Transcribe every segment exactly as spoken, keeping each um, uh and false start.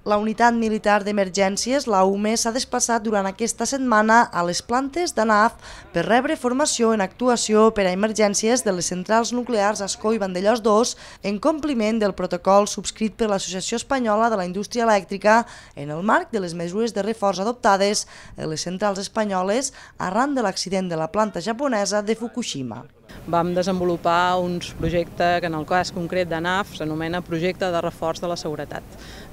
La Unitat Militar d'Emergències, la U M E, s'ha desplaçat durant aquesta setmana a les plantes d'A N A F per rebre formació en actuació per a emergències de les centrals nuclears Ascó i Vandellòs dos en compliment del protocol subscrit per l'Associació Espanyola de la Indústria Elèctrica en el marc de les mesures de reforç adoptades en les centrals espanyoles arran de l'accident de la planta japonesa de Fukushima. Vam desenvolupar un projecte que en el cas concret d'A N A F s'anomena Projecte de Reforç de la Seguretat.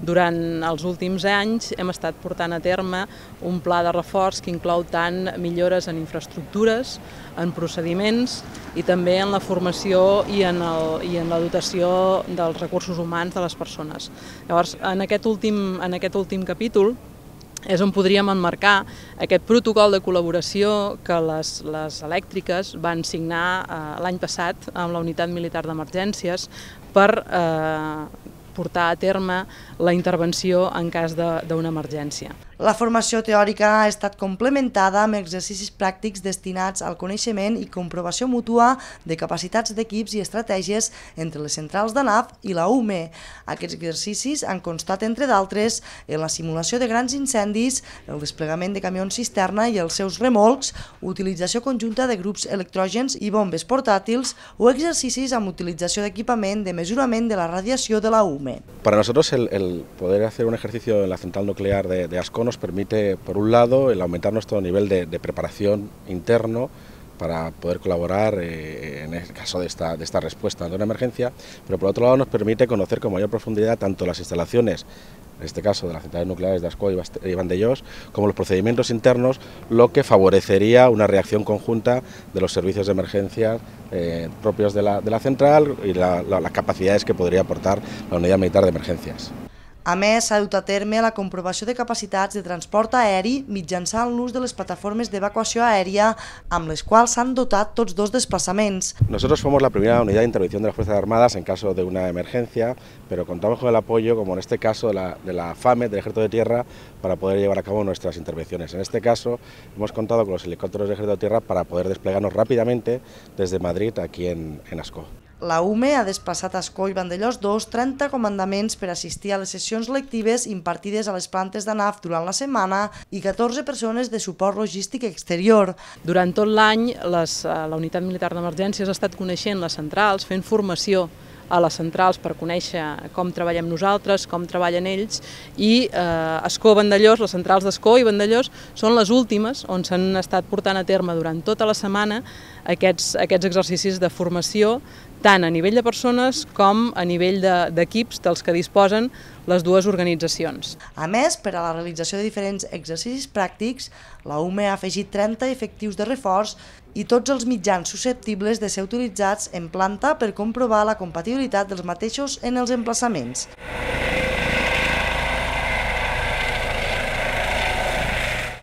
Durant els últims anys hem estat portant a terme un pla de reforç que inclou tant millores en infraestructures, en procediments i també en la formació i en, el, i en la dotació dels recursos humans de les persones. Llavors, en aquest últim, en aquest últim capítol és on podríem emmarcar aquest protocol de col·laboració que les, les elèctriques van signar eh, l'any passat amb la Unitat Militar d'Emergències per eh, portar a terme la intervenció en cas d'una emergència. La formació teòrica ha estat complementada amb exercicis pràctics destinats al coneixement i comprovació mútua de capacitats d'equips i estratègies entre les centrals d'A N A F i la U M E. Aquests exercicis han constat, entre d'altres, en la simulació de grans incendis, el desplegament de camions cisterna i els seus remolcs, utilització conjunta de grups electrògens i bombes portàtils o exercicis amb utilització d'equipament de mesurament de la radiació de la U M E. Para nosotros el, el poder hacer un ejercicio en la central nuclear de, de Ascó nos permite, por un lado, el aumentar nuestro nivel de, de preparación interno para poder colaborar eh, en el caso de esta, de esta respuesta de una emergencia, pero por otro lado nos permite conocer con mayor profundidad tanto las instalaciones, en este caso de las centrales nucleares de Ascó y Vandellòs, como los procedimientos internos, lo que favorecería una reacción conjunta de los servicios de emergencia eh, propios de la, de la central y la, la, las capacidades que podría aportar la Unidad Militar de Emergencias. A més, s'ha dut a terme la comprovació de capacitats de transport aeri mitjançant l'ús de les plataformes d'evacuació aèria amb les quals s'han dotat tots dos desplaçaments. Nosotros somos la primera unidad de intervención de las Fuerzas Armadas en caso de una emergencia, pero contamos con el apoyo, como en este caso, de la, de la FAME, del Ejército de Tierra, para poder llevar a cabo nuestras intervenciones. En este caso, hemos contado con los helicópteros del Ejército de Tierra para poder desplegarnos rápidamente desde Madrid aquí en, en Ascó. La U M E ha desplaçat a Ascó i Vandellòs dos trenta comandaments per assistir a les sessions lectives impartides a les plantes d'A N A F durant la setmana i catorze persones de suport logístic exterior. Durant tot l'any, la Unitat Militar d'Emergències ha estat coneixent les centrals, fent formació a les centrals per conèixer com treballem nosaltres, com treballen ells, i eh, Ascó, Vandellòs, les centrals d'Ascó i Vandellòs són les últimes on s'han estat portant a terme durant tota la setmana aquests, aquests exercicis de formació, tant a nivell de persones com a nivell d'equips dels que disposen les dues organitzacions. A més, per a la realització de diferents exercicis pràctics, la U M E ha afegit trenta efectius de reforç i tots els mitjans susceptibles de ser utilitzats en planta per comprovar la compatibilitat dels mateixos en els emplaçaments.